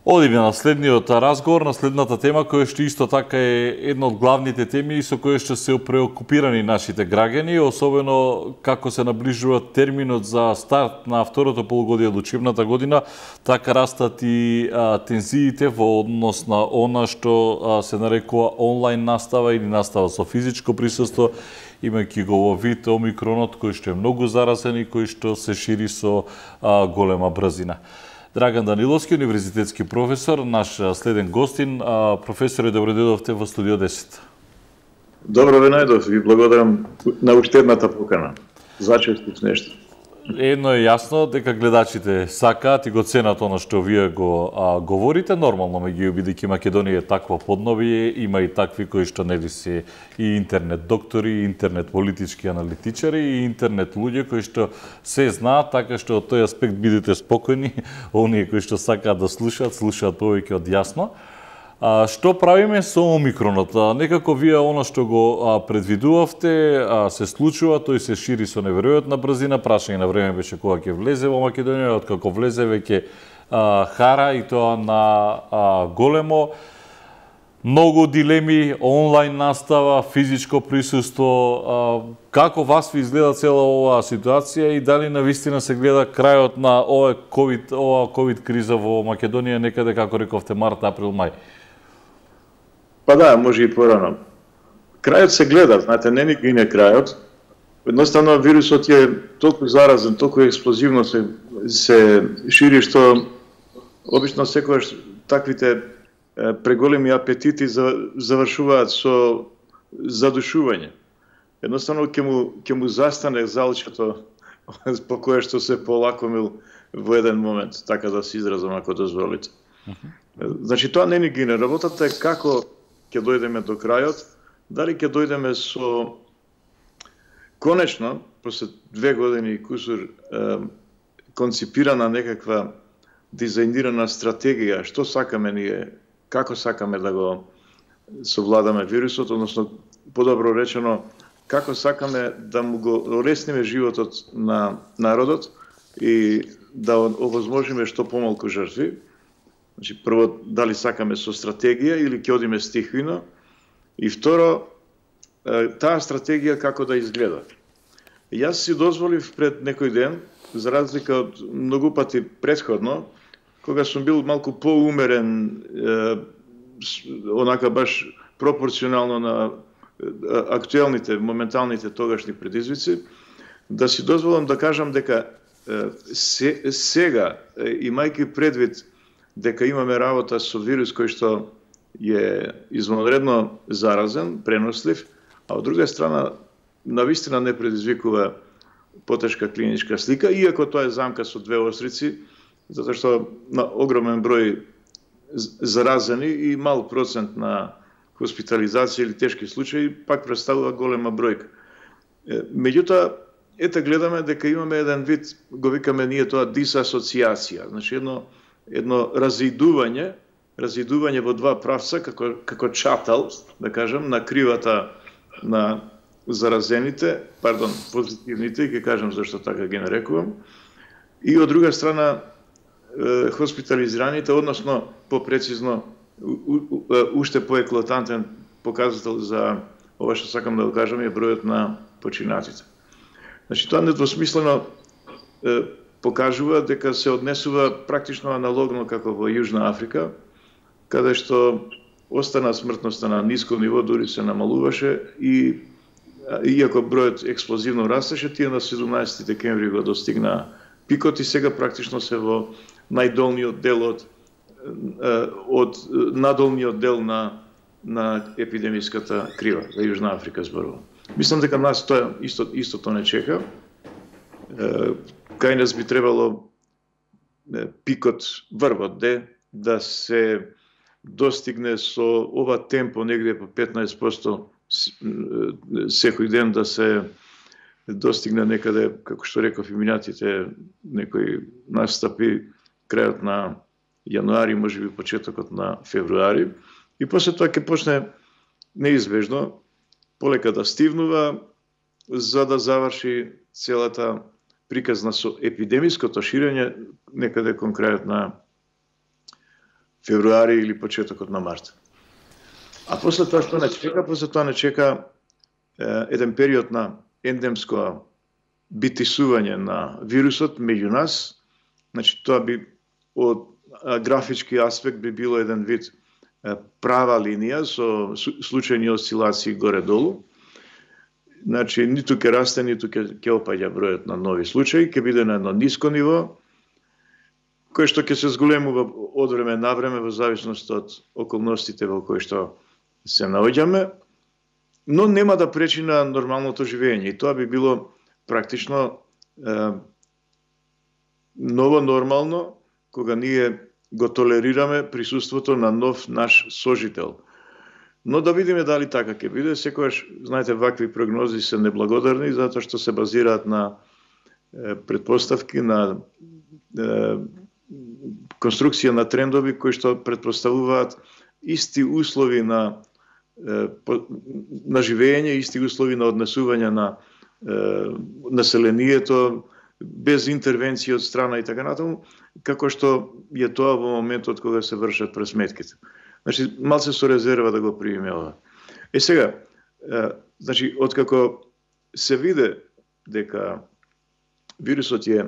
Одиме на следниот разговор, на следната тема, која што исто така е една од главните теми и со која што се преокупирани нашите граѓани, особено како се наближува терминот за старт на второто полугодие од учебната година, така растат и тензиите во однос на она што се нарекува онлайн настава или настава со физичко присуство, имајќи го во вид омикронот кој што е многу заразен и кој што се шири со голема брзина. Драган Даниловски, универзитетски професор, наш следен гостин. Професоре, добро дојдовте во студио 10. Добро ве најдов и благодарам на уште покана. Зачестив нешто. Едно е јасно, дека гледачите сакаат и го ценат она што вие го говорите. Нормално, меѓу бидејќи Македонија е такво поднобие, има и такви кои што нели се и интернет доктори, и интернет политички аналитичари, и интернет луѓе кои што се знаат, така што од тој аспект бидете спокојни, оние кои што сакаат да слушаат повеќе од јасно. Што правиме со омикронот? Некако вие оно што го предвидувавте се случува, тој се шири со неверојатна брзина, прашање на време беше кога ќе влезе во Македонија, откако влезе веќе хара и тоа на големо. Многу дилеми, онлайн настава, физичко присуство. Како вас ви изгледа цела оваа ситуација и дали навистина се гледа крајот на ова ковид криза во Македонија некаде, како рековте, март, април, мај? Па да, може и порано. Крајот се гледа, знаете, не ни гине крајот. Едноставно вирусот е толку заразен, толку експлозивно се шири, што обично секогаш таквите преголеми апетити завршуваат со задушување. Едноставно ќе му застане залчето по кое што се полакомил во еден момент, така да се изразам ако дозволите. Значи тоа не ни гине. Работата е како ќе дојдеме до крајот, дали ќе дојдеме со конечно, после 2 години и кусур, конципирана некаква дизајнирана стратегија, што сакаме ние, како сакаме да го совладаме вирусот, односно, подобро речено, како сакаме да му го олесниме животот на народот и да овозможиме што помалку жртви. Значи, прво, дали сакаме со стратегија или ќе одиме стихвино, и второ, таа стратегија како да изгледа. Јас си дозволив пред некој ден, за разлика од многу пати претходно, кога сум бил малку поумерен, онака баш пропорционално на актуелните, моменталните тогашни предизвици, да си дозволам да кажам дека сега, имајќи предвид дека имаме работа со вирус кој што е извонредно заразен, пренослив, а од друга страна навистина не предизвикува потешка клиничка слика, иако тоа е замка со две острици, затоа што на огромен број заразени и мал процент на хоспитализација или тешки случаи пак представува голема бројка. Меѓутоа, ете гледаме дека имаме еден вид, го викаме ние тоа дисасоциација, значи едно разидување во два правца, како чатал, да кажам, на кривата на заразените, позитивните, ќе кажам зашто така ги нарекувам, и од друга страна хоспитализираните, односно, попрецизно, уште поеклатантен показател за ова што сакам да го кажам е бројот на починатите. Значи, тоа недвосмислено покажува дека се однесува практично аналогно како во Јужна Африка, каде што остана смртноста на ниско ниво, дури се намалуваше и иако бројот експлозивно растеше, тие на 17 декември го достигна пикот и сега практично се во најдолниот дел од надолниот дел на епидемиската крива за Јужна Африка зборувам. Мислам дека нас тоа истото не чека. Кај нас би требало пикот, врвот да се достигне со ова темпо негде по 15% секој ден, да се достигне некаде, како што реков и минатите некои настапи крајот на јануари, можеби почетокот на февруари, и после тоа ќе почне неизбежно полека да стивнува за да заврши целата приказна со епидемиското ширење некаде кон крајот на февруари или почетокот на март. А после тоа што не чека? После тоа не чека еден период на ендемско битисување на вирусот меѓу нас. Значи, тоа би од графички аспект би било еден вид права линија со случајни осцилации горе-долу. Значи, ниту ќе расте, ниту ќе опаѓа бројот на нови случаи, ќе биде на едно ниско ниво, кој што ќе се зголемува од време на време во зависност од околностите во кои што се наоѓаме, но нема да пречи на нормалното живење. И тоа би било практично ново нормално, кога ние го толерираме присуството на нов наш сожител. Но да видиме дали така ќе биде. Секогаш, знаете, вакви прогнози се неблагодарни, затоа што се базираат на предпоставки, на конструкција на трендови кои што предпоставуваат исти услови на живење, исти услови на однесување на населението, без интервенција од страна и така натаму, како што е тоа во моментот кога се вршат пресметките. Значи, малце со резерва да го примиме ова. Сега, значи, откако се виде дека вирусот е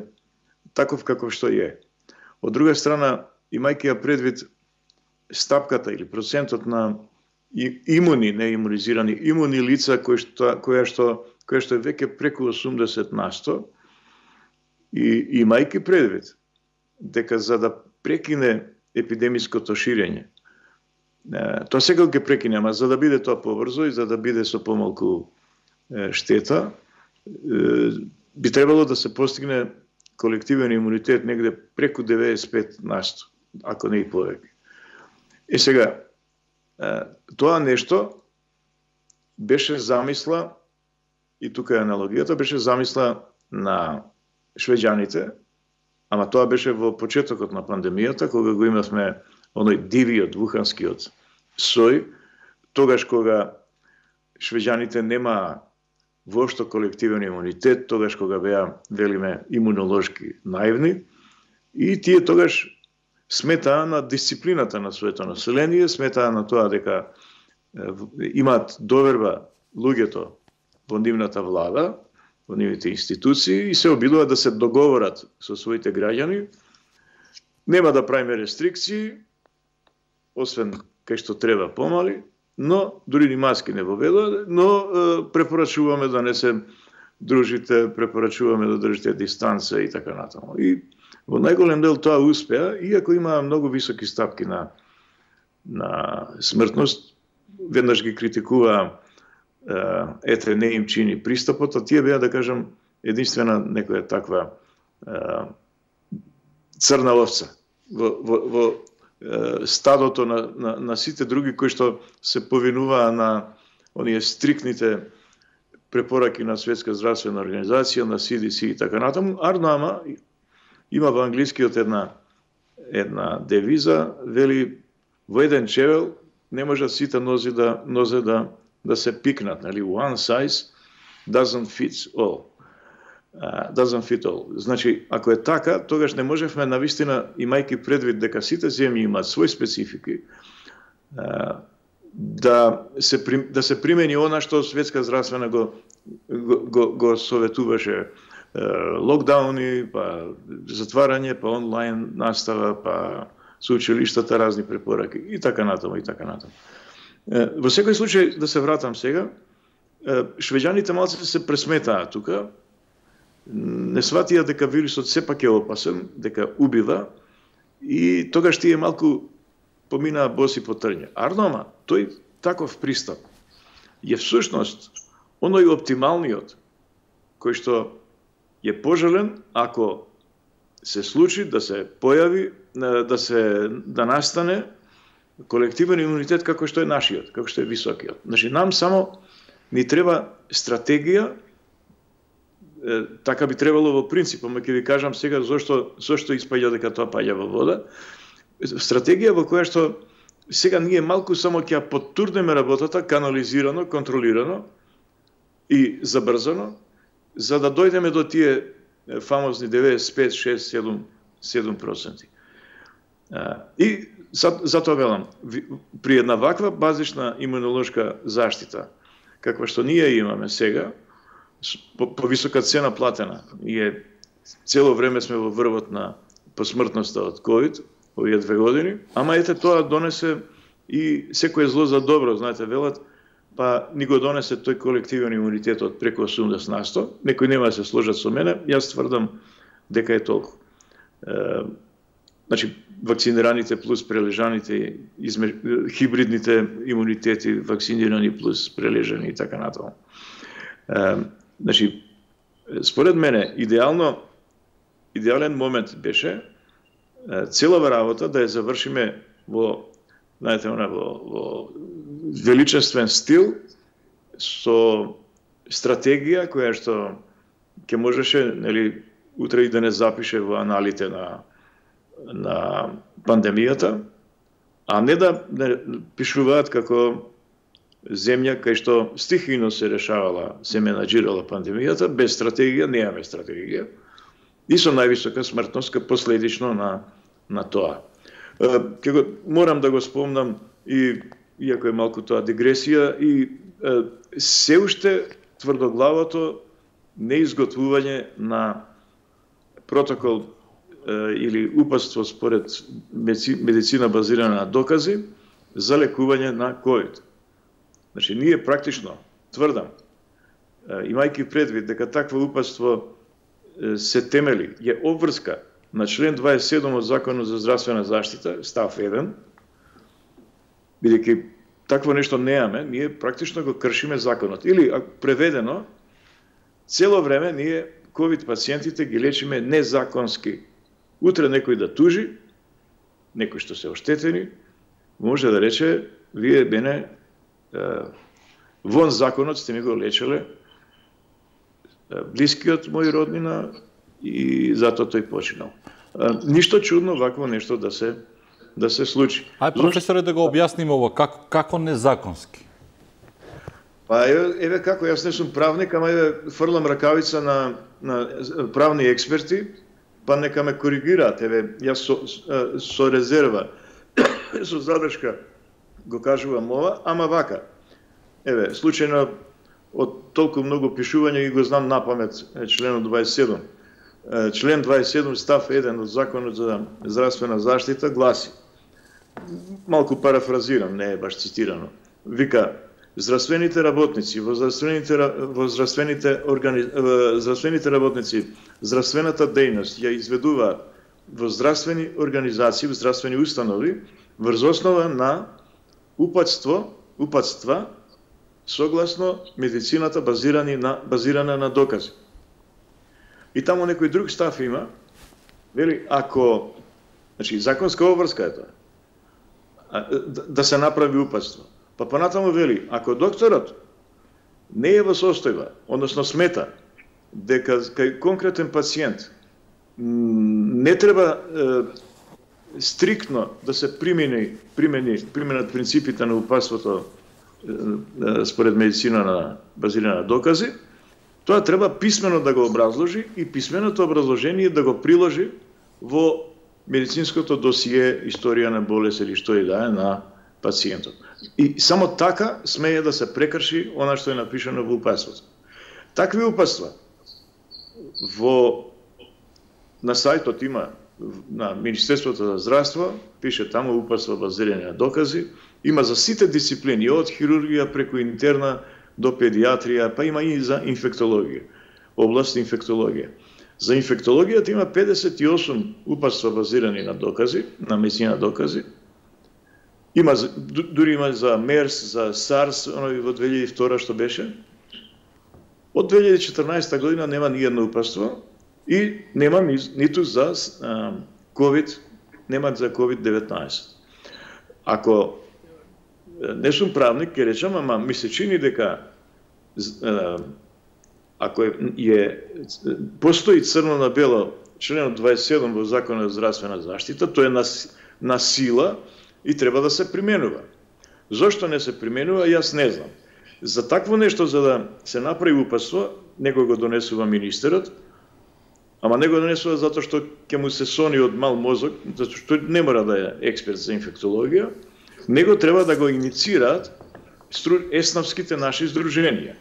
таков каков што е, од друга страна, имајќи ја предвид стапката или процентот на имуни, не имунизирани, имуни лица која што е веќе преку 80%, и имајќи предвид дека за да прекине епидемиското ширење, тоа сега ќе прекине, ама за да биде тоа побрзо и за да биде со помалку штета, би требало да се постигне колективен имунитет негде преку 95%, ако не и повеќе. И сега, тоа нешто беше замисла, и тука е аналогијата, беше замисла на швеđаните, ама тоа беше во почетокот на пандемијата, кога го имавме оној дивиот, вуханскиот сој, тогаш кога швеđаните нема воопшто колективен имунитет, тогаш кога беа, велиме, имунолошки наивни, и тие тогаш сметаа на дисциплината на своето население, сметаа на тоа дека имаат доверба луѓето во нивната влада, во нивните институции, и се обидуваат да се договорат со своите граѓани. Нема да правиме рестрикции, освен кај што треба помали, но дури ни маски не воведува, но препорачуваме да не се дружите, препорачуваме да држите дистанца и така натаму. И во најголем дел тоа успеа, иако има многу високи стапки на смртност. Веднаш ги критикуваа, ете, не им чини пристапот, а тие беа, да кажам, единствена некоја таква црна овца во стадото на сите други кои што се повинуваа на оние стрикните препораки на Светска здравствена организација, на CDC и така натаму. Ама има во англискиот една девиза, вели, во еден чевел не можат сите нозе да се пикнат, нели? One size doesn't fit all. Значи, ако е така, тогаш не можевме навистина, имајќи предвид дека сите земји имаат свој специфики, да се примени она што Светска здравствена го советуваше, локдауни, па затварање, па онлайн настава, па со училиштата разни препораки и така натаму, и така натаму. Во секој случај, да се вратам сега, швеđаните малце се пресметаа тука, не сватија дека вирусот сепак е опасен, дека убива, и тогаш тие малку поминаа боси по трње. Ама, тој таков пристап е всушност оној оптималниот, кој што е пожелен ако се случи да се појави, да настане колективен имунитет како што е нашиот, како што е високиот. Значи, нам само ни треба стратегија, така би требало во принцип, ама ќе ви кажам сега зошто испаѓа дека тоа паѓа во вода. Стратегија во која што сега ние малку само ќе ја поттурнеме работата, канализирано, контролирано и забрзано, за да дојдеме до тие фамозни 95, 6, 7%. И затоа велам, при една ваква базична имунолошка заштита, каква што ние имаме сега, по висока цена платена, ние цело време сме во врвот на посмртноста од COVID, овие 2 години, ама ете тоа донесе и секое зло за добро, знаете, велат, па ни го донесе тој колективен имунитет од преку 80%. Некои нема да се сложат со мене, јас тврдам дека е толку. Значи, вакцинираните плюс прележаните, хибридните имунитети, вакцинирани плюс прележани и така натаму. Значи, според мене, идеален момент беше целава работа да ја завршиме во, знаете, во величествен стил, со стратегија која што ќе можеше, нели, утре и да не запише во аналите на пандемијата, а не да пишуваат како земја кај што стихино се решавала, се менаџирала пандемијата, без стратегија, немаме стратегија, и со највисока смртност ка последично на тоа. Морам да го спомнам, и иако е малку тоа дигресија, и се уште тврдоглавото неизготвување на протокол или упатство според медицина базирана на докази за лекување на COVID. Значи, ние практично, тврдам, имајќи предвид дека такво упатство се темели, е обврска на член 27 од Законот за здравствена заштита, став 1, бидејќи такво нешто неаме, ние практично го кршиме законот. Или, преведено, цело време ние COVID пациентите ги лечиме незаконски. Утре некој да тужи, некој што се оштетени, може да рече, вие мене вон законот сте ми го лечеле блискиот мој роднина и затоа тој починал. Ништо чудно вакво нешто да се случи. Ај, професоре, да го објасниме ова, како незаконски? Па еве како, јас не сум правник, ама еве фрлам ракавица на правни експерти, па нека ме коригираат, еве јас со резерва, со задршка го кажувам ова, ама вака. Еве, случајно од толку многу пишување и го знам напамет членот 27. Член 27 став 1 од Законот за здравствена заштита гласи, малку парафразирам, не е баш цитирано, вика, здравствените работници, здравствените работници, здравствената дејност ја изведуваат во здравствени организации, во здравствени установи, врз основа на упатства согласно медицината базирана на докази. И таму некој друг став има, вели, ако, значи, законска обврска е тоа, да се направи упатство. Па понатаму вели, ако докторот не е во состојба, односно смета, дека кај конкретен пациент не треба стриктно да се применат принципите на упатството според медицина базирана на докази, тоа треба писмено да го образложи и писменото образложение да го приложи во медицинското досие, историја на болест или што и да е на пациентот. И само така смее да се прекрши она што е напишано во упатството. Такви упатства на сајтот има на Министерството за здравство, пише таму упатства базирани на докази, има за сите дисциплини, од хирургија преку интерна до педиатрија, па има и за инфектологија, област инфектологија. За инфектологијата има 58 упатства базирани на докази, на медицина докази. Дури има за МЕРС, за САРС, оној во 2002 што беше. Од 2014 година нема ни едно упатство и нема ниту за COVID, нема за COVID-19. Ако не сум правник, ќе речам, ама ми се чини дека ако постои црно на бело членот 27 во Законот за здравствена заштита, тоа е на сила и треба да се применува. Зошто не се применува, јас не знам. За такво нешто, за да се направи упатство, него го донесува министерот, ама не го донесува затоа што ќе му се сони од мал мозок, затоа што не мора да е експерт за инфектологија, него треба да го инициираат еснавските наши здруженија.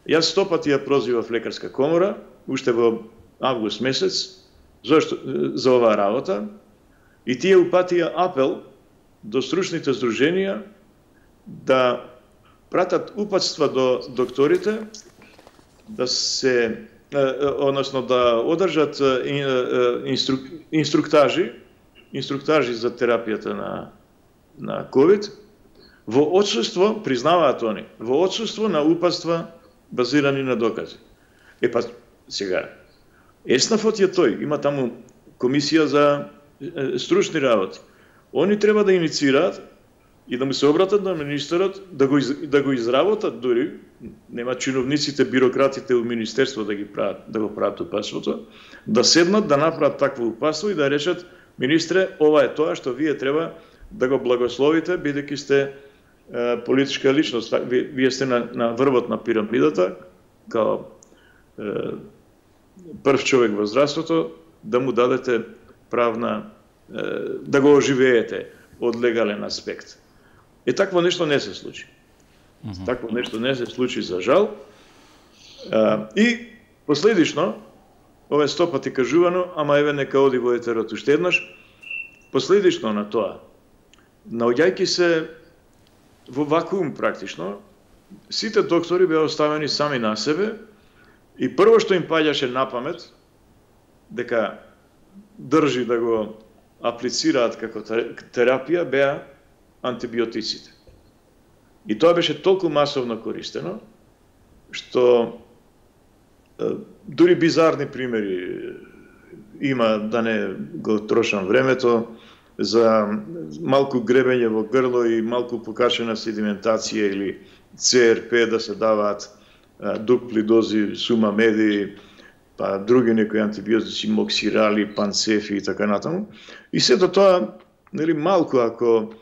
Јас 100 пати ја прозивав лекарска комора, уште во август месец, за оваа работа, и тие упатија апел до стручните здруженија да пратат упатства до докторите, да се, односно да одржат инструктажи за терапијата на COVID, во отсуство, признаваат они, во отсуство на упатства базирани на докази. Па сега, Еснафот е тој, има таму комисија за стручни работи. Они треба да инициираат и да му се обратат на министерот, да го изработат дури, нема чиновниците, бирократите во министерство да го прават упатството, да седнат, да направат такво упатство и да речат: министре, ова е тоа што вие треба да го благословите, бидејќи сте политичка личност, вие сте на врвот на пирамидата, као прв човек во здравството, да му дадете правна, да го оживеете од легален аспект. Такво нешто не се случи. Такво нешто не се случи, за жал. И последично, ова е 100 пати кажувано, ама еве нека оди во етерот уште еднаш, последично на тоа, наоѓајќи се во вакуум практично, сите доктори беа оставени сами на себе и прво што им паѓаше на памет, дека држи да го аплицираат како терапија, беа антибиотиците. И тоа беше толку масовно користено, што дури бизарни примери има, да не го трошам времето, за малку гребење во грло и малку покачена седиментација или ЦРП да се даваат дупли дози сумамеди, па други некои антибиотици, моксирали, панцефи и така натаму. И сето тоа, нели, малку ако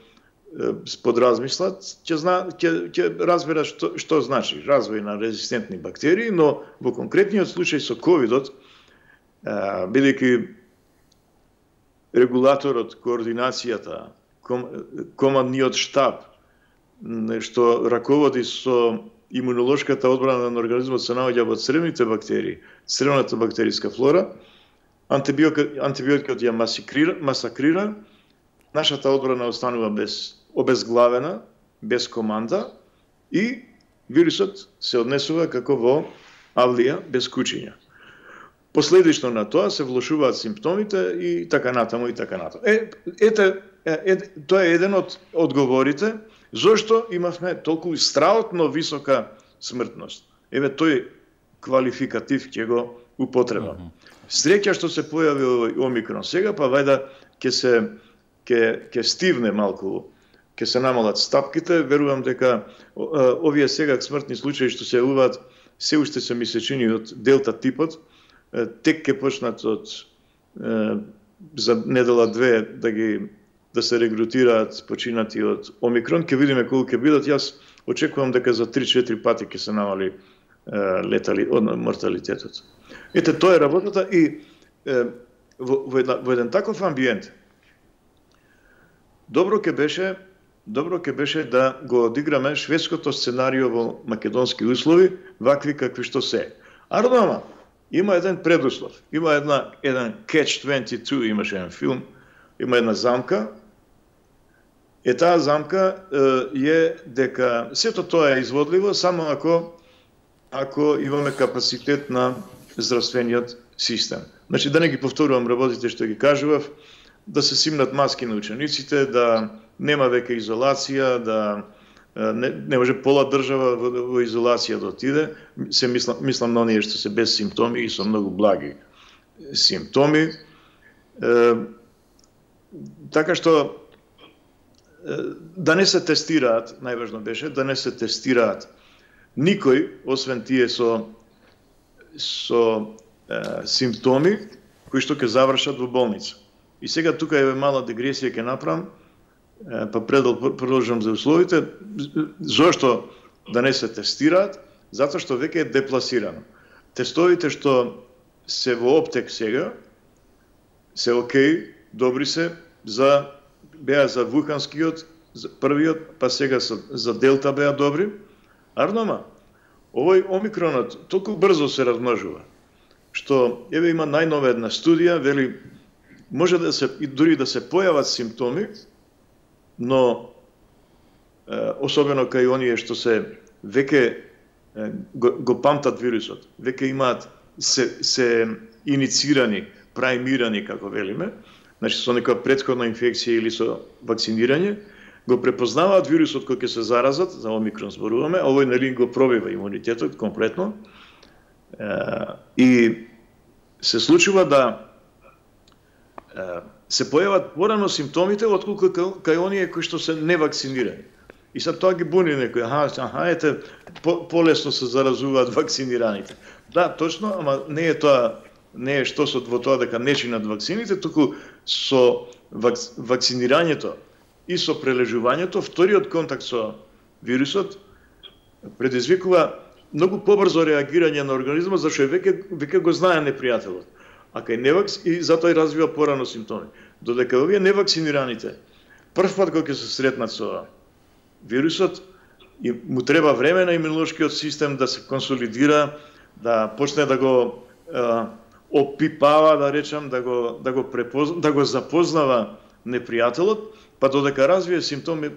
подразмислат, ќе разберат што значи развој на резистентни бактерии, но во конкретниот случај со ковидот, бидејќи регулаторот, координацијата, командниот штаб, што раководи со имунолошката одбрана на организмот, се наоѓа во цревните бактерии, цревната бактериска флора, антибиотикот ја масакрира, нашата одбрана останува обезглавена, без команда, и вирусот се однесува како во авлија, без кучиња. Последично на тоа се влошуваат симптомите и така натаму и така натаму. Тоа е еден од одговорите зошто имавме толку страотно висока смртност. Еве тој квалификатив ќе го употребам. Среќа што се појави омикрон сега, па вајда ќе стивне малку, ќе се намалат стапките. Верувам дека овие сега смртни случаи што се јавуваат се уште се ми се чини од делта типот, тек ќе почнат за недела-две да се регрутираат починати од омикрон, ќе видиме колку ќе бидат. Јас очекувам дека за 3-4 пати ќе се намали морталитетот. Ете, тоа е работата и во еден таков амбиент добро ќе беше да го одиграме шведското сценарио во македонски услови, вакви какви што се. Ардома има еден предуслов, има еден Catch-22, имаше еден филм, има една замка. Таа замка е дека сето тоа е изводливо само ако имаме капацитет на здравствениот систем. Значи, да не ги повторувам работите што ги кажував, да се симнат маски на учениците, да нема веќе изолација, да не може пола држава во изолација да отиде. Се мислам на оние што се без симптоми и со многу благи симптоми. Така што да не се тестираат, најважно беше, да не се тестираат никој, освен тие со симптоми, кои што ќе завршат во болница. И сега тука е мала дегресија ќе направам, па продолжам за условите. Зошто да не се тестираат? Затоа што веќе е депласирано. Тестовите што се во оптек сега, се окей, добри се, беа за вуханскиот, за првиот, па сега за Делта беа добри. Арнома, овој омикронот толку брзо се размножува, што еве има најнова една студија, вели може да се и дури да се појават симптоми, но особено кај оние што се веќе го памтат вирусот, веќе имаат се иницирани, праймирани како велиме, значи со некоја претходна инфекција или со вакцинирање, го препознаваат вирусот кој ќе се заразат, за омикрон зборуваме, а овој нели го пробива имунитетот комплетно. И се случува да се појават порано симптомите отколку кај оние кои што се невакцинирани. И сад тоа ги буни некој, ете, полесно се заразуваат вакцинираните. Да, точно, ама не е тоа, не е штосот во тоа дека не чинат вакцините, туку со вакцинирањето и со прележувањето, вториот контакт со вирусот предизвикува многу побрзо реагирање на организмот, зашто веќе го знае непријателот. А кај и затоа и развива порано симптоми. Додека овие невакцинираните прв пат кога ќе се сретнат со вирусот, и му треба време на имунолошкиот систем да се консолидира, да почне да го опипава, да речам, да го запознава непријателот, па додека развие симптоми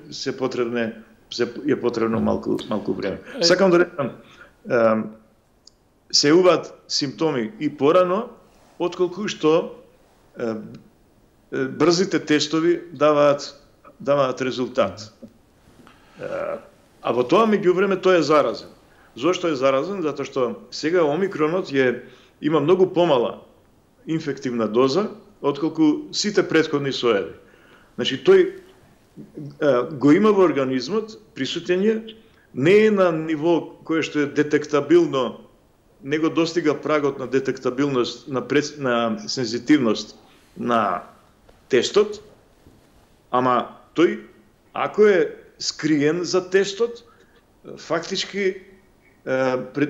е потребно малку време. Сакам да речам, се јавуваат симптоми и порано, отколку што брзите тестови даваат резултат. А во тоа меѓувреме тој е заразен. Зошто е заразен? Затоа што сега омикронот има многу помала инфективна доза отколку сите претходни соеви. Значи тој го има во организмот, присутење, не е на ниво кое што е детектабилно, не го достига прагот на детектабилност, на сензитивност на тестот, ама тој, ако е скриен за тестот, фактички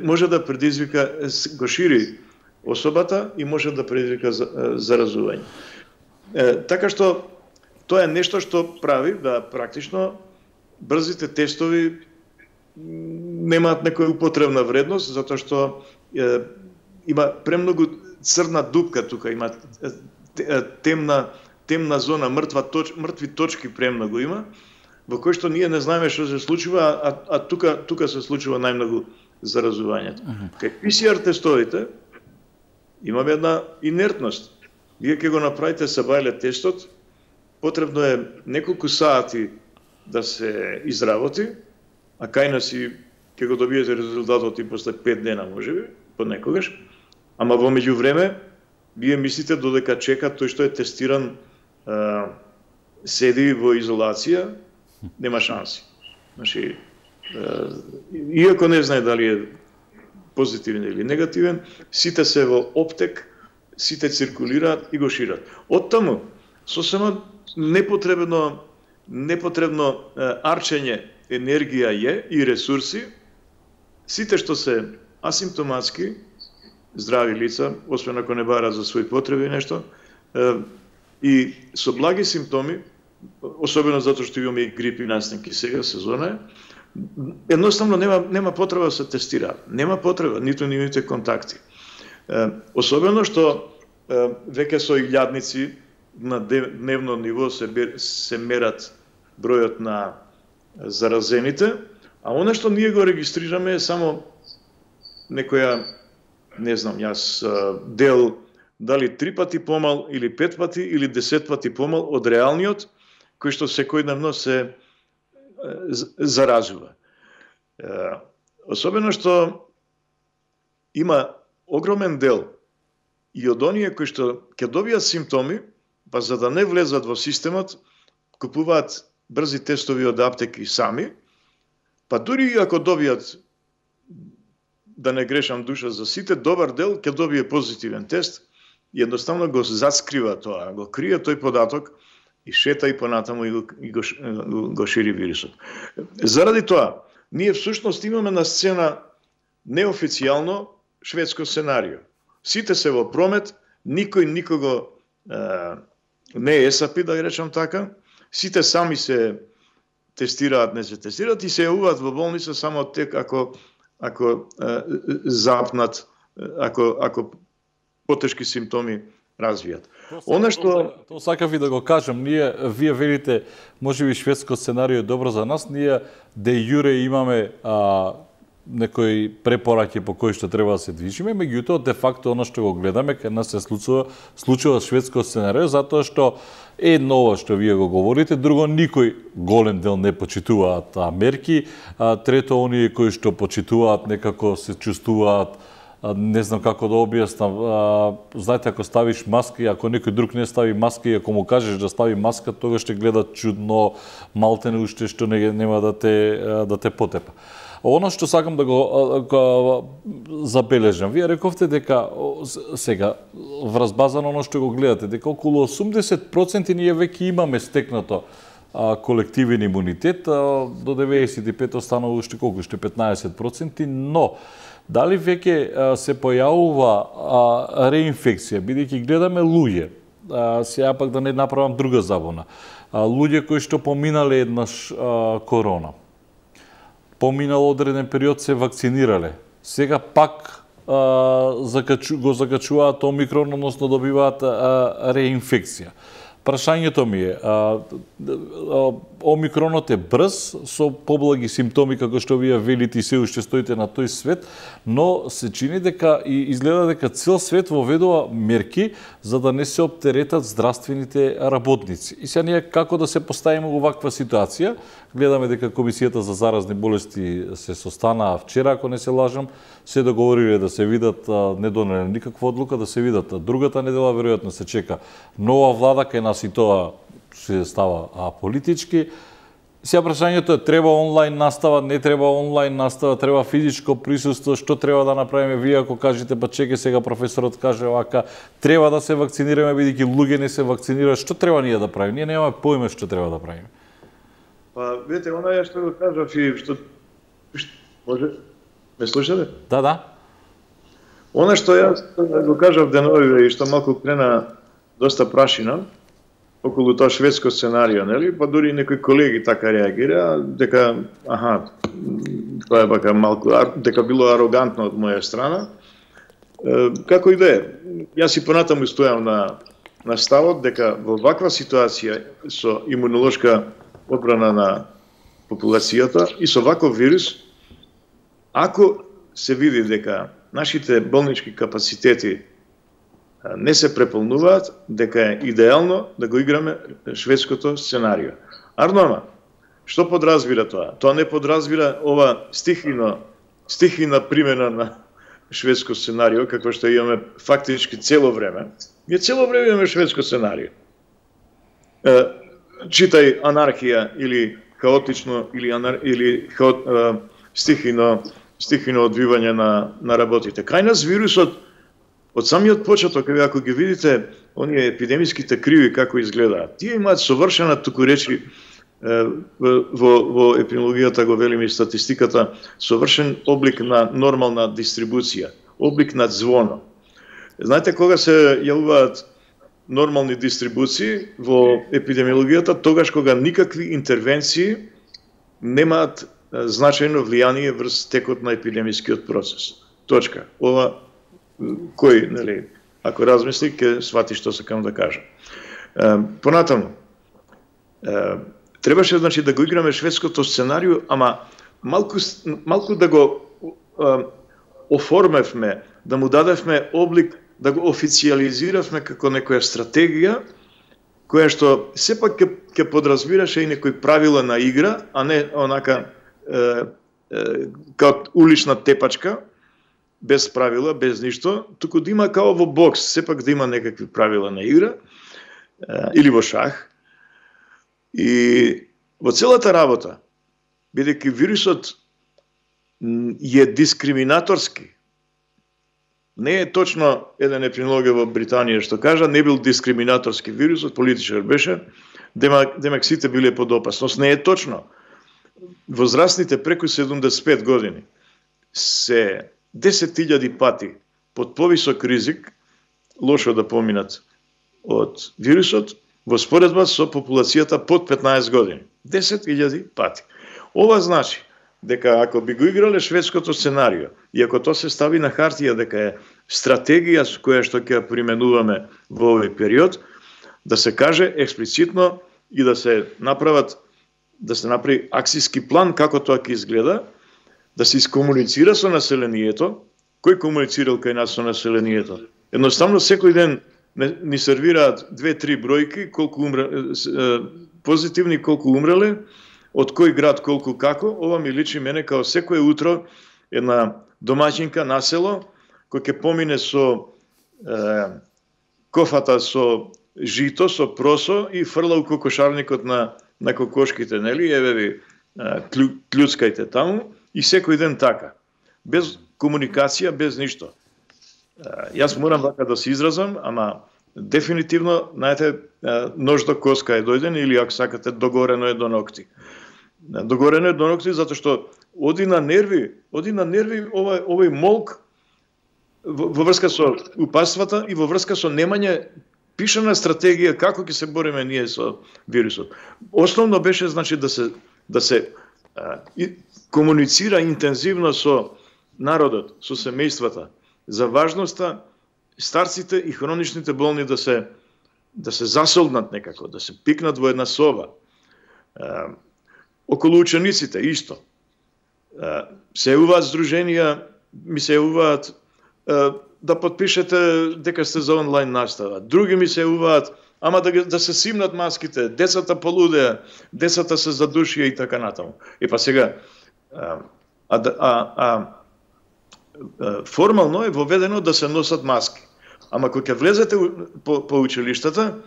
може да предизвика, го шири особата и може да предизвика заразување. Така што тоа е нешто што прави да практично брзите тестови немаат некоја употребна вредност, затоа што има премногу црна дупка тука, има темна зона, мртви точки премногу има, во кој што ние не знаеме што се случува, а тука се случува најмногу заразувањето. Кај PCR тестовите имаме една инертност. Вие ќе го направите сабајле тестот, потребно е неколку сати да се изработи, а кај нас ќе го добиете резултатот и после 5 дена можеби, понекогаш. Ама во меѓувреме, вие мислите додека чека тој што е тестиран седи во изолација, нема шанси. Значи, иако не знае дали е позитивен или негативен, сите се во оптек, сите циркулираат и го шират. Оттаму, сосема непотребно арчење енергија и ресурси, сите што се асимптоматски, здрави лица, освен ако не бара за своји потреби нешто, и со благи симптоми, особено затоа што имаме и грипи настанки сега, сезона е, едноставно нема потреба да се тестира. Нема потреба, ниту нивните контакти. Особено што веќе со илјадници на дневно ниво се мерат бројот на заразените, а она што ние го регистрираме е само некоја, не знам, јас дел дали 3 пати помал или 5 пати или 10 пати помал од реалниот кој што секојдневно се заразува. Особено што има огромен дел и од оние кои што ќе добијат симптоми, па за да не влезат во системот, купуваат брзи тестови од аптеки сами, па дури и ако добијат, да не грешам душа за сите, добар дел ќе добие позитивен тест и едноставно го заскрива тоа, го крие тој податок и шета и понатаму и го шири вирусот. Заради тоа, ние всушност имаме на сцена неофицијално шведско сценарио. сите се во промет, никој никого не е САПИ, да речам така, сите сами се тестираат, не се тестираат и се јавуваат во болница само тек ако запнат, ако потешки симптоми развијат. Тоа сакав и да го кажам, вие велите, можеби шведско сценарио е добро за нас, ние де јуре имаме некои препораки по кои што треба да се движиме, меѓутоа де факто она што го гледаме кај нас се случува шведско сценарио, затоа што едно што вие го говорите, друго никој голем дел не почитуваат мерки, трето оние кои што почитуваат некако се чувствуваат, не знам како да објаснам, знаете, ако ставиш маска и ако некој друг не стави маска и ако му кажеш да стави маска, тогаш ќе гледат чудно, малтене уште што нема да те потепа. Оно што сакам да го забележам, вие рековте дека сега врз база на оно што го гледате, дека околу 80% ние веќе имаме стекнато колективен имунитет, до 95 останало уште колку, уште 15%, но дали веќе се појавува реинфекција, бидејќи гледаме луѓе, сега пак да не направам друга забуна, луѓе кои што поминале еднаш корона, поминал одреден период се вакцинирале, сега пак го закачуваат омикрон, односно добиваат реинфекција. Прашањето ми е, омикронот е брз, со поблаги симптоми, како што вие велите и се уште стоите на тој свет, но се чини дека и изгледа дека цел свет воведува мерки за да не се оптеретат здравствените работници. И сега ние како да се поставиме во ваква ситуација? Гледаме дека Комисијата за заразни болести се состанаа вчера, ако не се лажам, се договориле да се видат, не донеле никаква одлука, да се видат другата недела, веројатно се чека нова влада, кај нас и тоа се става политички. Сега прашањето е, треба онлайн настава, не треба онлайн настава, треба физичко присуство, што треба да направиме? Вие ако кажете, па чеке сега професорот каже овака, треба да се вакцинираме, бидејќи луѓе не се вакцинираат, што треба ние да правиме? Ние немаме поиме што треба да правиме. Па, видите, она што го кажав и што може ме слушате? Да. Она што јас го кажав деновиве и што малку крена доста прашина околу тоа шведско сценарио, нели? Па дури некои колеги така реагира дека тоа е бака малку дека било арогантно од моја страна. Како и да е, јас и понатаму стојам на ставот дека во ваква ситуација со имунолошка одбрана на популацијата и со ваков вирус, ако се види дека нашите болнички капацитети не се преполнуваат, дека е идеално да го играме шведското сценарио. Арнорма, што подразбира тоа? Тоа не подразбира ова стихина примена на шведско сценарио, како што имаме фактички цело време. Ние цело време имаме шведско сценарио. Читај анархија или хаотично или стихино одвивање на работите. Кај нас вирусот од самиот почеток, ако ги видите оние епидемиските криви како изгледаат, тие имаат совршена, туку речи во епидемиологијата го велиме и статистиката, совршен облик на нормална дистрибуција, облик на звоно. Знаете кога се јавуваат нормални дистрибуции во епидемиологијата? Тогаш кога никакви интервенции немаат значајно влијание врз текот на епидемискиот процес. Точка. Ова кој, нели, ако размисли, ќе свати што сакам да кажам. Понатаму, требаше, значи, да го играме шведското сценарио, ама малку да го оформевме, да му дадевме облик, да го официализиравме како некоја стратегија, која што сепак ќе подразбираше и некои правила на игра, а не онака као улична тепачка, без правила, без ништо, туку да има као во бокс, сепак да има некакви правила на игра, или во шах. И во целата работа, бидејќи вирусот е дискриминаторски, не е точно еден епидемиолог во Британија што кажа, не бил дискриминаторски вирусот, политичар беше, демек сите биле под опасност. Не е точно. Возрастните преку 75 години се 10.000 пати под повисок ризик, лошо да поминат од вирусот, во споредба со популацијата под 15 години. 10.000 пати. Ова значи дека ако би го играле шведското сценарио и ако тоа се стави на хартија дека е стратегија со која што ќе применуваме во овој период, да се каже експлицитно и да се направи акцијски план како тоа ќе изгледа, да се искомуницира со населението, кој комуницирал кај нас со населението. Едноставно секој ден ни сервираат 2-3 бројки, колку позитивни, колку умреле, од кој град колку како. Ова ми личи мене као секое утро една домаќинка на село кој ќе помине со кофата со жито, со просо и фрла у кокошарникот на кокошките, нели? Еве ви клюцкајте таму и секој ден така. Без комуникација, без ништо. Јас морам вака да се изразам, ама дефинитивно, знаете, нож до коска е дојден или ако сакате догорено е до ногти. Догорено е до ногти затоа што оди на нерви овој молк во врска со упадствата и во врска со немање пишана стратегија како ќе се бориме ние со вирусот. Основно беше значи да се комуницира интензивно со народот, со семејствата, за важноста старците и хроничните болни да се засолднат некако, да се пикнат во една соба. Околу учениците исто. Се јавуваат здруженија, ми се јавуваат да подпишете дека сте за онлайн настава. Други ми се јавуваат, ама да се симнат маските, децата полудеа, децата се задушија и така натаму. И па сега формално е воведено да се носат маски. Ама кога ќе влезете по училиштата,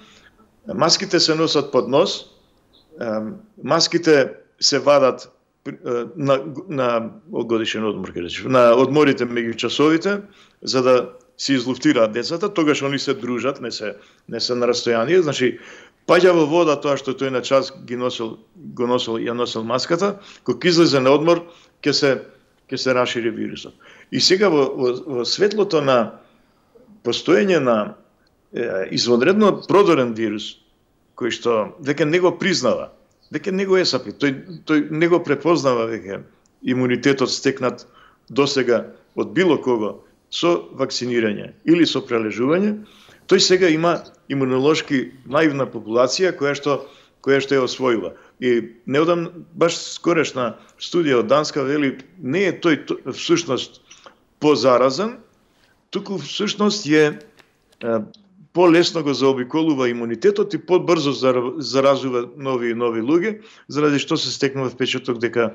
маските се носат под нос, маските се вадат на годишен одмор, на одморите меѓу часовите, за да се излуфтираат децата, тогаш они се дружат, не се на растојание, значи паѓа во вода тоа што тој на час ја носил маската, кога излезе на одмор, ќе се рашири вирусот. И сега во светлото на постоење на извонредно продорен вирус, кој што веќе не го признава, веќе не го есапи, тој не го препознава веќе имунитетот стекнат досега од било кого со вакцинирање или со прележување, тој сега има имунолошки наивна популација која што е освоила. И неодамна баш скорешна студија од Данска вели не е тој всушност позаразен, туку всушност е полесно го заобиколува имунитетот и побрзо заразува нови луѓе, заради што се стекнува впечаток дека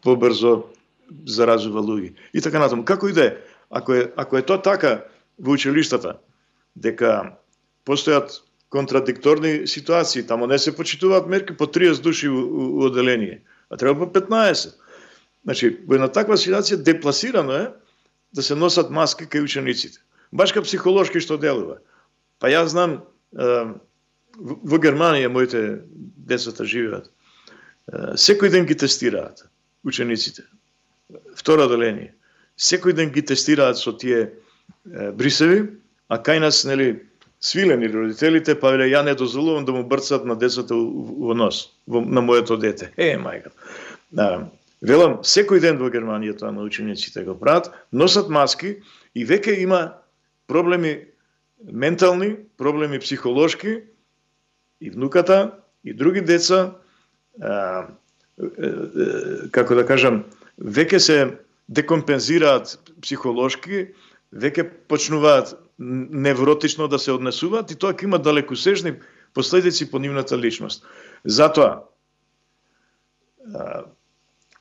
побрзо заразува луѓе. И така натаму. Како и да е, ако е тоа така во училиштата, дека постојат контрадикторни ситуации, тамо не се почитуваат мерки по 30 души у оделение, а треба по 15. Значи, во една таква ситуација депласирано е да се носат маски кај учениците. Башка психолошки што делува. Па јас знам, во Германија моите децата живеат. Секој ден ги тестираат учениците. Второ оделение. Секој ден ги тестираат со тие брисеви, а кај нас, нели, свилени родителите, па веле, ја не дозволувам да му брцат на децата во нос, на моето дете. Мајка. Велам, секој ден во Германија тоа на учениците го прават, носат маски и веќе има проблеми ментални, проблеми психолошки, и внуката, и други деца, како да кажам, веќе се декомпензираат психолошки, веќе почнуваат невротично да се однесуваат и тоа ќе има далекосежни последици по нивната личност. Затоа,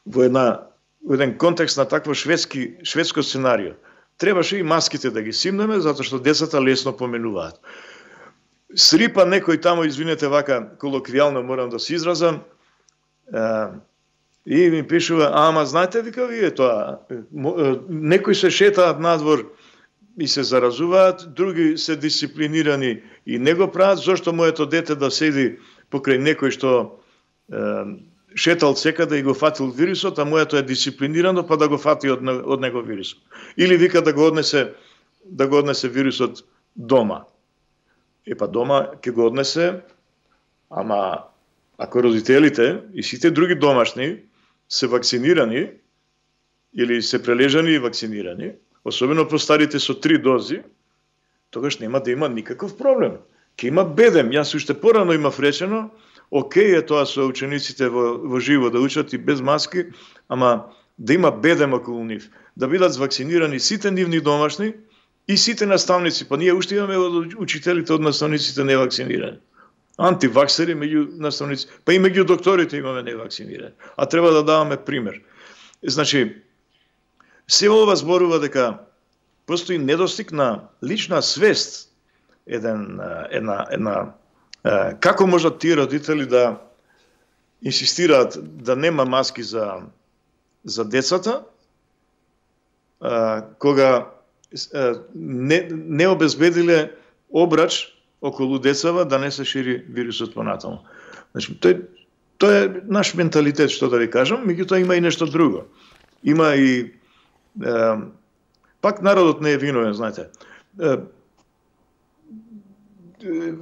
во еден контекст на такво шведско сценарио, требаше и маските да ги симнеме, затоа што децата лесно поменуваат. Срипа некој тамо, извинете вака, колоквијално морам да се изразам, и ми пишува, ама знаете вика вие тоа, некои се шетаат надвор и се заразуваат, други се дисциплинирани и не го прават, зошто моето дете да седи покрај некој што шетал секаде и го фатил вирусот, а моето е дисциплинирано, па да го фати од него вирусот. Или вика да го однесе да го однесе вирусот дома. Па дома ќе го однесе, ама ако родителите и сите други домашни се вакцинирани или се прележани и вакцинирани, особено постарите со 3 дози, тогаш нема да има никаков проблем. Ке има бедем. Јас уште порано имав речено, окей е тоа со учениците во живо да учат и без маски, ама да има бедем околу нив, да бидат вакцинирани сите нивни домашни и сите наставници, па ние уште имаме од учителите од наставниците невакцинирани. Антиваксери меѓу наставници, па и меѓу докторите имаме невакцинирани. А треба да даваме пример. Значи, се ова зборува дека постои недостиг на лична свест, како можат тие родители да инсистираат да нема маски за децата, кога не обезбедиле обрач околу децава да не се шири вирусот понатаму. Значи, тоа е наш менталитет, што да ви кажам, меѓутоа има и нешто друго. Има и пак народот не е виновен, знаете.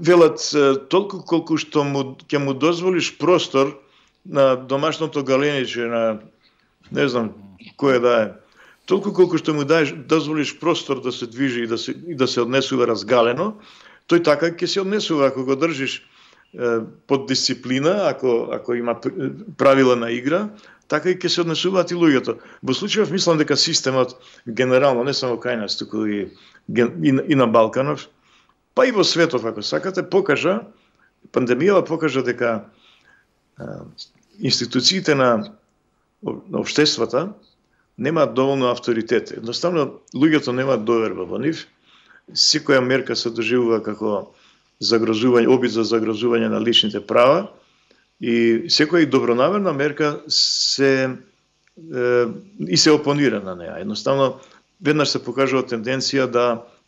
Велат толку колку што ќе му дозволиш простор на домашното галениче, на не знам кој да е, толку колку што му дозволиш простор да се движи и да се однесува разгалено, тој така ќе се однесува ако го држиш под дисциплина, ако има правила на игра, така и ќе се однесуваат и луѓето. Во случајов мислам дека системот генерално, не само кај нас, туку и на Балканов, па и во светот, ако сакате, пандемијава покажа дека институциите на општествата немаат доволно авторитет. Едноставно, луѓето немаат доверба во нив. Секоја мерка се доживува како обид за загрозување на личните права и секоја добронамерна мерка се опонира на неа. Едноставно, веднаш се покажува тенденција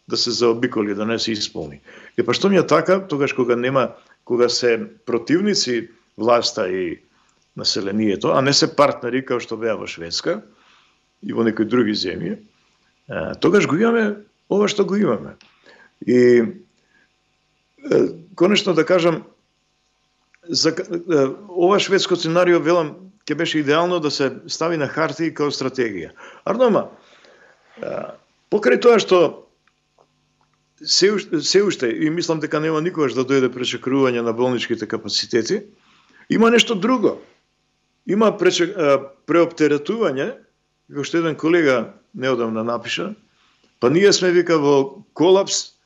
да се заобиколи, да не се исполни. Па што ми е така, тогаш кога се противници власта и населението, а не се партнери како што беа во Шведска и во некои други земји, тогаш го имаме ова што го имаме. И конечно да кажам, ова шведско сценарио, велам, ќе беше идеално да се стави на хартија како стратегија. Ардома, покрај тоа што се уште, и мислам дека нема никогаш да дојде пречекрување на болничките капацитети, има нешто друго. Има преоптеретување, како што еден колега неодамна напиша, па ние сме, вика, во колапс,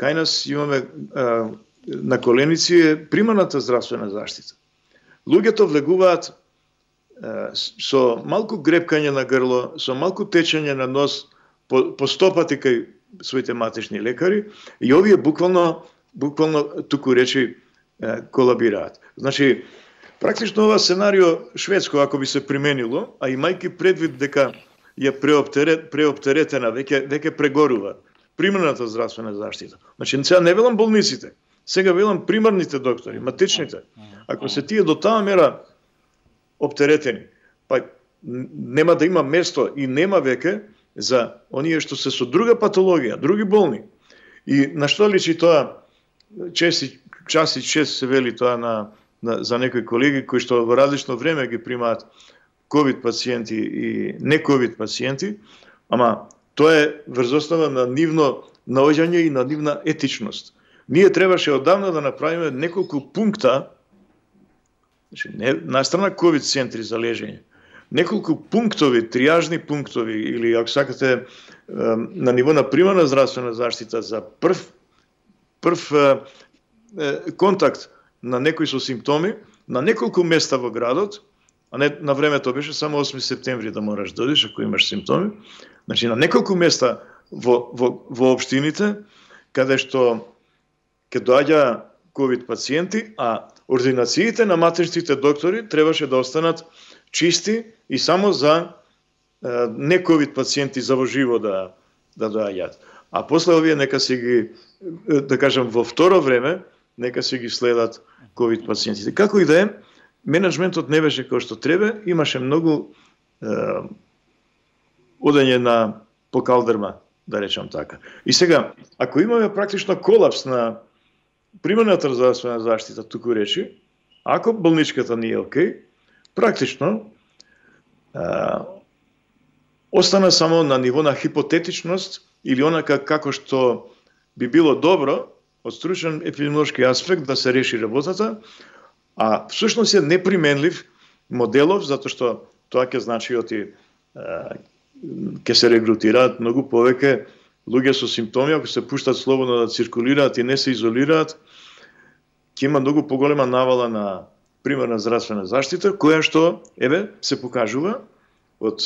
кај нас имаме на коленици е примарната здравствена заштита. Луѓето влегуваат со малку грепкање на грло, со малку течење на нос, по 100 пати кај своите матични лекари, и овие буквално туку речи колабираат. Значи, практично ова сценарио шведско, ако би се применило, а имајќи предвид дека е преоптеретена, веќе прегорува примарната здравствена заштита. Значи, сега не велам болниците, сега велам примарните доктори, матичните. Ако се тие до таа мера оптеретени, па нема да има место и нема веќе за оние што се со друга патологија, други болни. И на што личи тоа, чест се вели тоа за некои колеги кои што во различно време ги примаат ковид пациенти и не ковид пациенти, ама тоа е врз основа на нивно наоѓање и на нивна етичност. Ние требаше одавна да направиме неколку пункта, значи не настрана ковид центри за лежење, неколку пунктови, триажни пунктови, или ако сакате на ниво на примарна здравствена заштита за прв контакт на некои со симптоми, на неколку места во градот, а не на времето беше само 8 септември да мораш да одиш ако имаш симптоми. Значи на неколку места во општините каде што ќе доаѓа ковид пациенти, а ординациите на матичните доктори требаше да останат чисти и само за не ковид пациенти за во живо да доаѓаат. А после овие нека се ги, да кажам, во второ време, нека се ги следат ковид пациентите. Како и да е, менеджментот не беше кој што треба, имаше многу одење по калдерма да речам така. И сега, ако имаме практично колапс на примерната здравствена заштита, туку речи, ако болничката не е окей, практично остана само на ниво на хипотетичност или онака како што би било добро од стручен епидемиолошки аспект да се реши работата, а всушност е неприменлив моделов, затоа што тоа ќе значи ќе се регрутираат многу повеќе луѓе со симптоми, ако се пуштат слободно да циркулираат и не се изолираат, ќе има многу поголема навала на примерна здравствена заштита, која што, се покажува од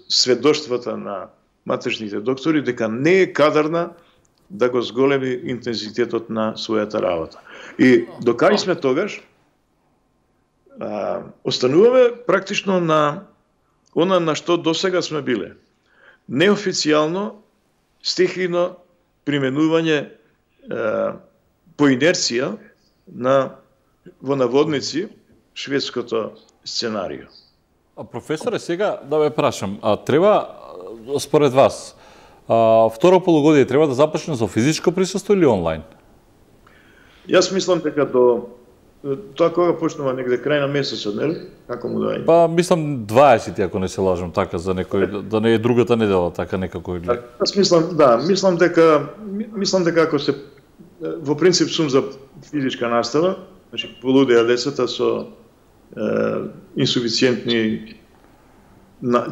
сведоштвата на матечните доктори дека не е кадарна да го зголеми интензитетот на својата работа. И докај сме тогаш, остануваме практично на она на што досега сме биле. Неофицијално, стихийно применување по инерција во наводници шведското сценарио. Професоре, сега да ве прашам, треба според вас второ полугодие треба да започне со физичко присуство или онлайн? Јас мислам дека до тоа кога почнува негде крај на месецот, нели? Како му дај? Па мислам 20, ако не се лажам, така за некој да не е другата недела, така некако или. Јас мислам дека ако се во принцип сум за физичка настава, значи полудеа децата со инсуфициентни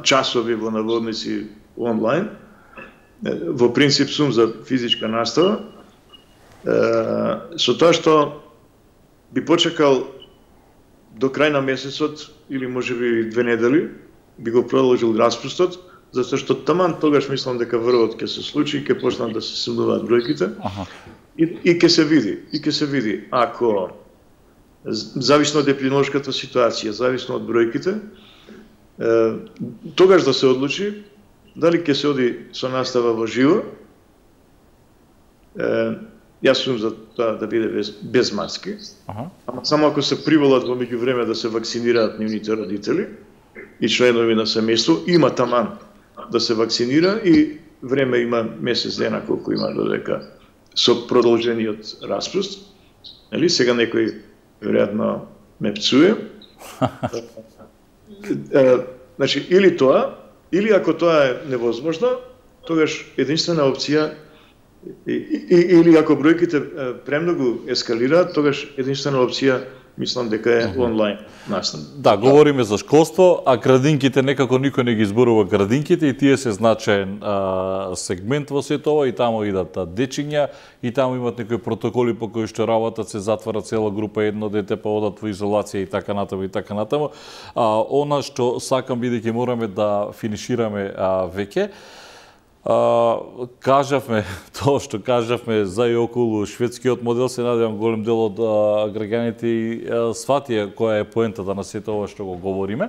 часови во наводници онлайн. Во принцип сум за физичка настава. Со тоа што би почекал до крај на месецот или можеби 2 недели, би го продолжил распустот, затоа што таман тогаш мислам дека врвот ќе се случи и ќе почнат да се сумнуваат бројките. И ќе се види, ако зависно од епидемиолошката ситуација, зависно од бројките, тогаш да се одлучи дали ќе се оди со настава во живо. Јас сум за тоа да биде без маски, ама само ако се приволат во меѓувреме да се вакцинираат нивните родители и членови на семејство, има таман да се вакцинира и време има месец дена колку има додека со продолжениот распуст. Нели сега некој веројатно ме пцуе. Значи или тоа, или ако тоа е невозможно, тогаш единствена опција или ако бројките премногу ескалираат, тогаш единствена опција мислам дека е онлайн настава. Да, говориме за школство, а градинките некако никој не ги изборува градинките и тие се значаен сегмент во сето ова и таму идат дечиња и таму имат некои протоколи по кои што работат, се затвара цела група, едно дете па одат во изолација и така натаму и така натаму. Она што сакам, бидејќи мораме да финишираме веќе, кажавме тоа што кажавме за и околу шведскиот модел, се надевам голем дел од граѓаните и сватија која е поентата на сето ова што го говориме.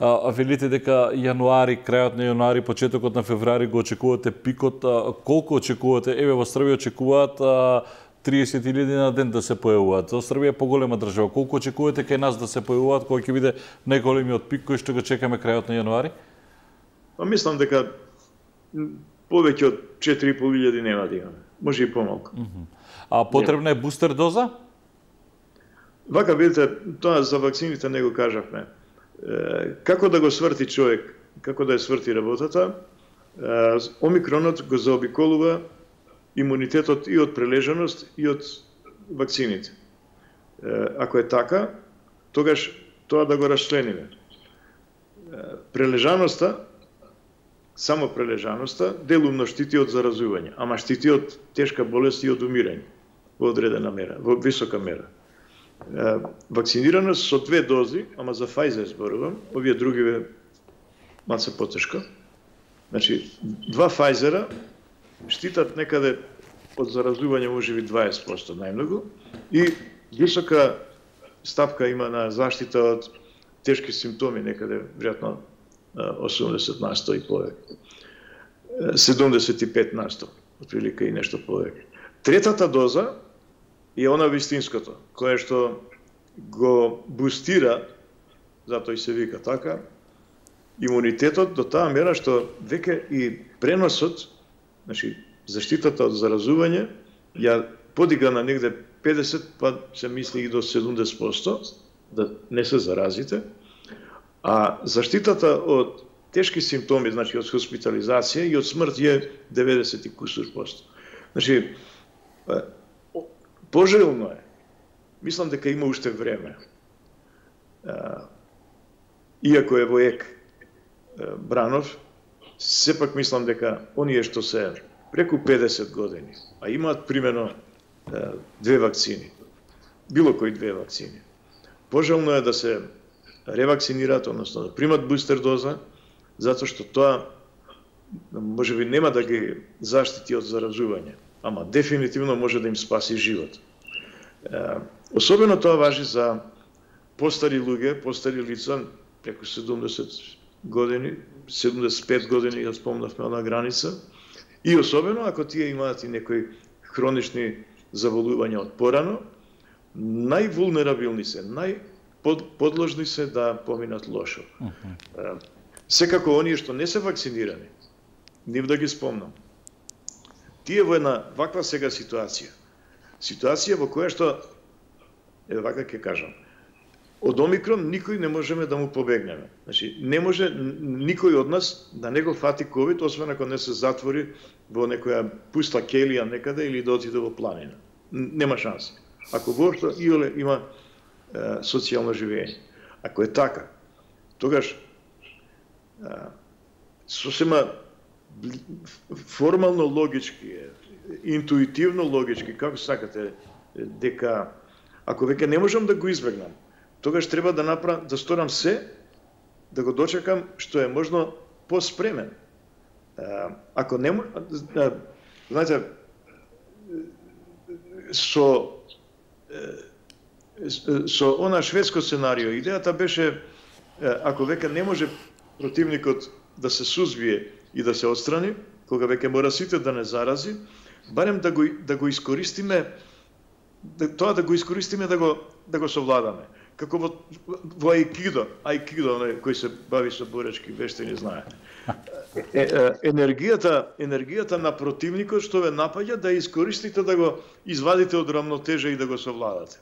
Велите дека јануари, крајот на јануари, почетокот на февруари го очекувате пикот, колку очекувате? Еве во Србија очекуваат 30.000 на ден да се појавуваат. Србија е поголема држава. Колку очекувате кај нас да се појавуваат, кој ќе биде најголемиот пик кој што го чекаме крајот на јануари? Мислам дека повеќе од 4.500 нема да имаме. Може и помалку. А потребна е бустер доза? Вака, видите, тоа за вакцините не го кажавме. Како да го сврти човек, како да ја сврти работата, омикронот го заобиколува имунитетот и од прележаност и од вакцините. Ако е така, тогаш тоа да го расчлениме. Прележаноста, само прележаноста, делумно штити од заразување, ама штити од тешка болест и од умирање во одредена мера, во висока мера. Вакцинираност со 2 дози, ама за Pfizer зборувам, овие другиве малце потешко. Значи, 2 Pfizer-а штитат некаде од заразување можеби 20% најмногу и висока стапка има на заштита од тешки симптоми, некаде веројатно 80% и повеќе. 75%, отприлика и нешто повеќе. Третата доза е она вистинското, кое што го бустира, затоа и се вика така, имунитетот до таа мера што веќе и преносот Значи, заштитата од заразување ја подига на негде 50, па се мисли и до 70%, да не се заразите, а заштитата од тешки симптоми, значи од хоспитализација и од смрт е 90 и кусур %. Значи, пожелно е, мислам дека има уште време, иако е воек Бранов, сепак мислам дека оние што се преку 50 години, а имаат примерно 2 вакцини, било кои 2 вакцини, пожелно е да се ревакцинираат, односно да примат бустер доза, затоа што тоа можеби нема да ги заштити од заразување, ама дефинитивно може да им спаси живот. Особено тоа важи за постари луѓе, постари лица, преку 70 години, 75 години, ја спомнавме на граница, и особено ако тие имаат и некои хронични заболувања од порано, највулнерабилни се, најподложни се да поминат лошо. Секако оние што не се вакцинирани, нив да ги спомнам. Тие во една ваква сега ситуација во која што, вака ќе кажам, од Омикрон никој не можеме да му побегнеме. Значи, не може никој од нас да не го фати ковид, освен ако не се затвори во некоја пуста келија некаде или да отиде во планина. Нема шанс. Ако воопшто иоле има социјално живење. Ако е така, тогаш сосема формално логички, интуитивно логички, како сакате, дека ако веќе не можам да го избегнам, тогаш треба да сторам се, да го дочекам што е можно поспремен. Ако не знаете, со она шведско сценарио, идејата беше, ако веќе не може противникот да се сузбие и да се отстрани, кога веќе мора сите да не зарази, барем да го искористиме, тоа да го искористиме да го совладаме. Како во Айкидо, кој се бави со боречки вештини, знае. Енергијата на противникот што ве напаѓа, да искористите да го извадите од рамнотежа и да го совладате.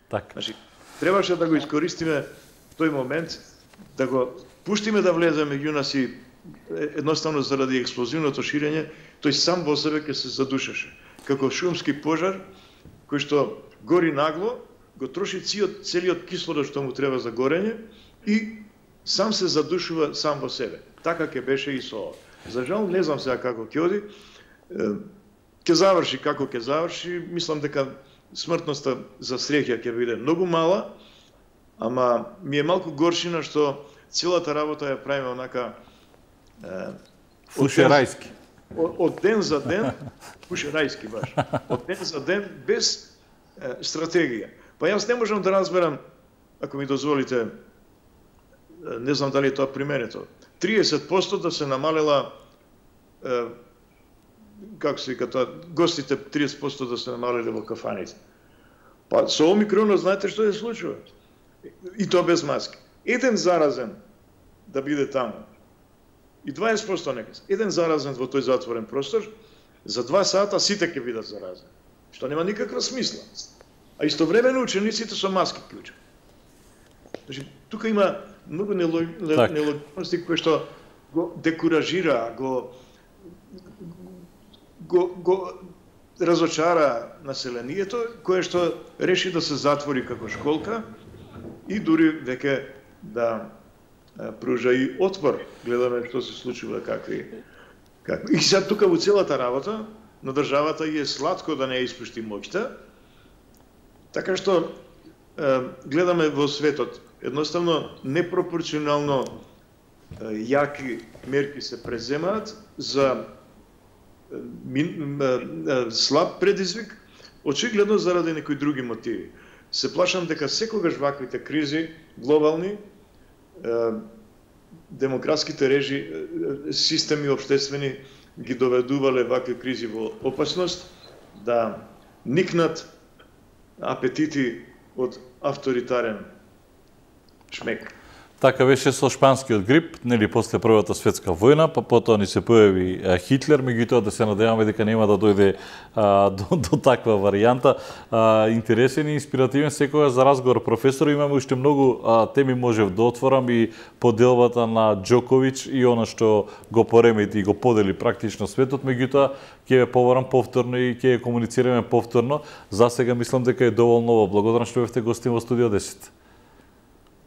Так. Значи, требаше да го искористиме тој момент, да го пуштиме да влезе меѓу нас и едноставно заради експлозивното ширење, тој сам во себе ќе се задушеше. Како шумски пожар, кој што гори нагло, го троши целиот кислород што му треба за горење и сам се задушува сам во себе. Така ќе беше и со ова. За жал, не знам сега како ќе оди. Ќе заврши како ќе заврши. Мислам дека смртноста за среќа ќе биде многу мала, ама ми е малку горшина што целата работа ја правиме онака фушерајски. Од ден за ден, фушерајски баш. Од ден за ден без стратегија. Па јас не можам да разберам, ако ми дозволите, не знам дали е тоа применето, 30% да се намалела, како се вика тоа, гостите 30% да се намалеле во кафаните. Па со Омикронот знаете што се случува? И тоа без маски. Еден заразен да биде таму, и 20% нека. Еден заразен во тој затворен простор, за 2 сата сите ќе бидат заразени. Што нема никаква смисла. А истовремено учениците со маски клучат. Значи, тука има многу нелогичности кои што го декуражира, го разочара населението, кое што реши да се затвори како школка и дури веќе да пружа и отпор. Гледаме што се случува, какви. И сега тука во целата работа на државата е сладко да не ја испушти моќта, така што гледаме во светот едноставно непропорционално јаки мерки се преземаат за слаб предизвик, очигледно заради некои други мотиви. Се плашам дека секогаш ваквите кризи глобални, демократските системи општествени ги доведувале вакви кризи во опасност да никнат апетити од авторитарен шмек. Така беше со шпанскиот грип, нели после Првата светска војна, па потоа ни се појави Хитлер, меѓутоа да се надеваме дека нема да дојде до таква варијанта. Интересен и инспиративен секогаш за разговор, професор. Имаме уште многу теми, можев да отворам и поделбата на Џоковиќ и она што го поремети и го подели практично светот, меѓутоа ќе ве побарам повторно и ќе комуницираме повторно. За сега мислам дека е доволно. Благодарам што бевте гостин во студио 10.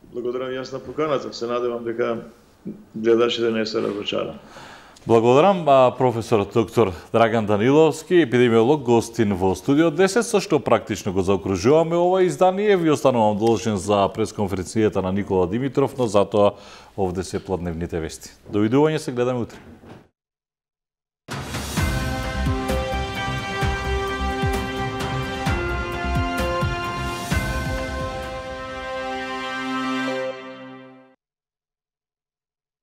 Благодарам јас на поканата. Се надевам дека гледачите не се разочарани. Благодарам професорот доктор Драган Даниловски, епидемиолог, гостин во студио 10, со што практично го заокружуваме ова издание. Ви останувам должен за пресконференцијата на Никола Димитров, но затоа овде се платневните вести. Довидување, се гледаме утре.